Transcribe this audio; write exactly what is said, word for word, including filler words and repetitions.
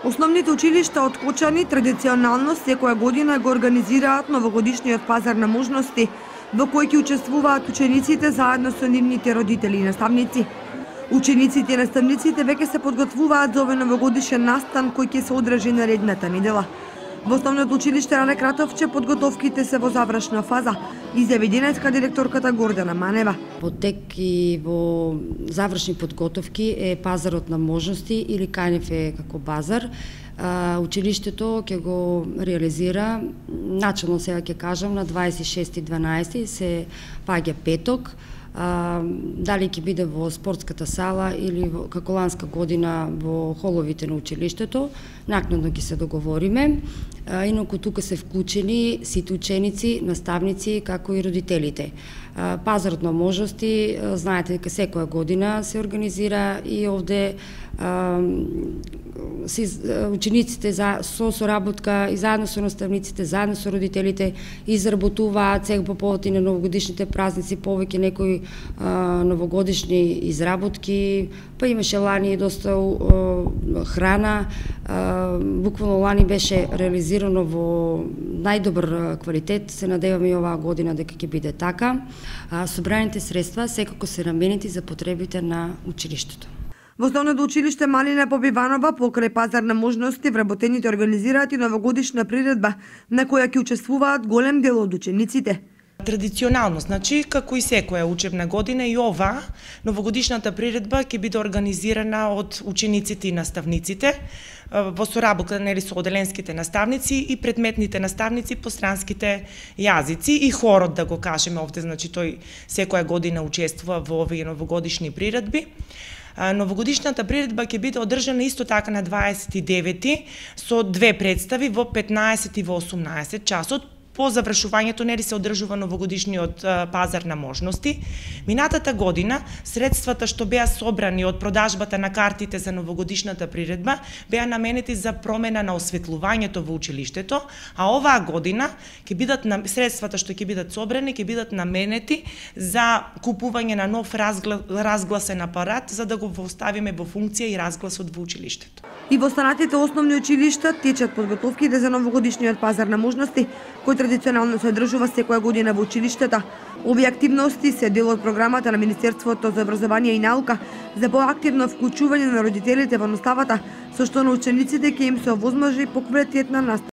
Основните училишта од Кочани традиционално секоја година го организираат новогодишниот пазар на можности, во кој ќе учествуваат учениците заедно со нивните родители и наставници. Учениците и наставниците веќе се подготвуваат за овој новогодишен настан кој ќе се одржи наредната недела. Во основното училиште Рале Кратовче подготовките се во завршна фаза, изјави денеска директорката Гордана Манева. Во тек и во завршни подготовки е пазарот на можности или КНФ е како базар. Училиштето ќе го реализира, начално сега ќе кажам, на дваесет и шести дванаесети се паѓа петок. А, дали ќе биде во спортската сала или во, како ланска година во холовите на училиштето, накнадно ќе се договориме. А, инаку тука се вклучени сите ученици, наставници, како и родителите. А, пазарот на можности, а, знаете дека секоја година се организира и овде а, си, учениците за, со соработка и заедно со наставниците, заедно со родителите изработуваат сега по повод и на новогодишните празници повеќе некои а, новогодишни изработки, па имаше лани доста а, храна, а, буквално лани беше реализирано во најдобар квалитет, се надеваме и оваа година дека ќе биде така. А, собраните средства секако се наменети за потребите на училиштето. Во основното училиште Малина Побиванова покрај пазар на можности вработените организираат и новогодишна приредба на која ќе учествуваат голем дел од учениците. Традиционално, значи, како и секоја учебна година, и ова новогодишната приредба ќе биде организирана од учениците и наставниците во соработка нели со оделенските наставници и предметните наставници по странските јазици и хорот, да го кажеме овде, значи тој секоја година учествува во овие новогодишни приредби. Новогодишната приредба ќе биде одржана исто така на дваесет и девети со две представи во петнаесет и во осумнаесет часот. По завршувањето нели се одржува новогодишниот пазар на можности. Минатата година средствата што беа собрани од продажбата на картите за новогодишната приредба беа наменети за промена на осветлувањето во училиштето, а оваа година ќе бидат средствата што ќе бидат собрани ќе бидат наменети за купување на нов разгласен апарат за да го оставиме во функција и разгласот во училиштето. И во останатите основни училишта течат подготовките за новогодишниот пазар на можности, кој традиционално се одржува секоја година во училиштата. Овие активности се дел од програмата на Министерството за образование и наука за поактивно вклучување на родителите во наставата, со што на учениците ќе им се овозможи поквалитетна настава.